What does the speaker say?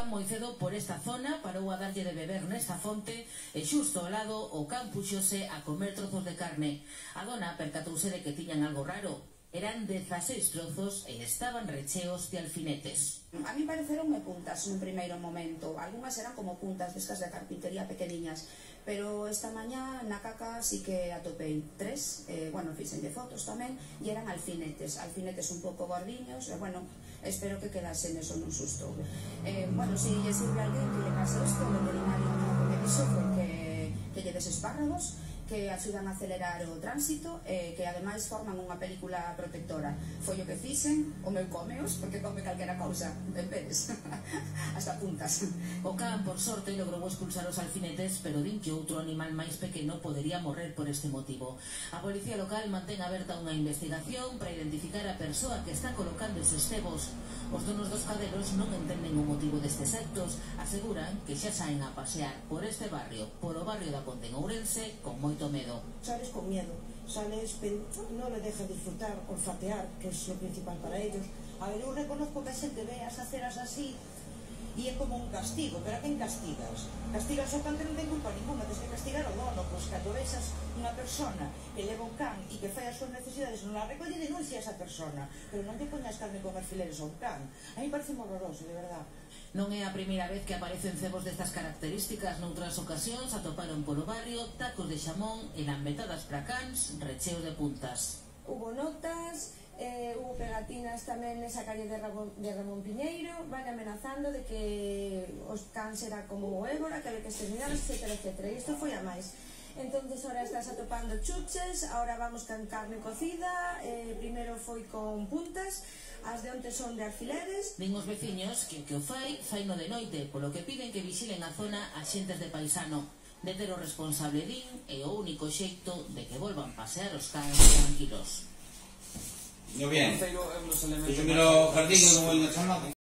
pasaban moi cedo por esta zona, parou a darlle de beber nesta fonte e xusto ao lado o can puxose a comer trozos de carne. A dona percatouse de que tiñan algo raro. Eran 16 trozos e estaban recheos de alfinetes. A mí pareceronme puntas nun primeiro momento. Algúnas eran como puntas destas de carpintería pequeniñas. Pero esta mañá na caca sí que atopei 3, fixenlle fotos tamén, e eran alfinetes un pouco gordiños, espero que quedasen eso nun susto. Se lle sirve a alguén que lle pase isto, o veterinario non me dixo foi que lle des espárragos, que axudan a acelerar o tránsito e que ademais forman unha película protectora. Foi o que fixen, o meu comeos, porque come calquera cousa, ben veres, hasta puntas. O can, por sorte, logrou expulsar os alfinetes, pero din que outro animal máis pequeno podería morrer por este motivo. A policía local mantén aberta unha investigación para identificar a persoa que está colocando eses cebos. Os donos dos cadelos non entenden o motivo destes actos, aseguran que xa saen a pasear por este barrio, polo barrio da Ponte en Ourense, con moito medo. Sales con miedo, sales, pero non le deja disfrutar, olfatear, que é o principal para ellos. A ver, eu reconozco que a xente ve as aceras así e é como un castigo, pero a quen castigas? Castigas o can que non ten culpa ninguna, tens que castigar o dono, pois cando vexas unha persona que leva un can e que fai as súas necesidades non la recolle, denuncia a esa persona, pero non te poñas carne con alfileres a un can. A mí parece horroroso, de verdad. Non é a primeira vez que aparecen cebos destas características. Noutras ocasións atoparon polo barrio tacos de xamón e lambetadas para cans recheos de puntas. Hubo notas, hubo pegatinas tamén nesa calle de Ramón Piñeiro, van amenazando de que os cans era como o ébola, que había que exterminar, etc. E isto foi a máis. Entonces ahora estás atopando chuches, ahora vamos con carne cocida, primeiro foi con puntas, as de onte son de alfileres. Din os veciños que o que o fai no de noite, polo que piden que vixilen a zona axentes de paisano. De ter o responsable din é o único xeito de que volvan pasear os cans tranquilos. Yo bien. Yo me lo jardín como el de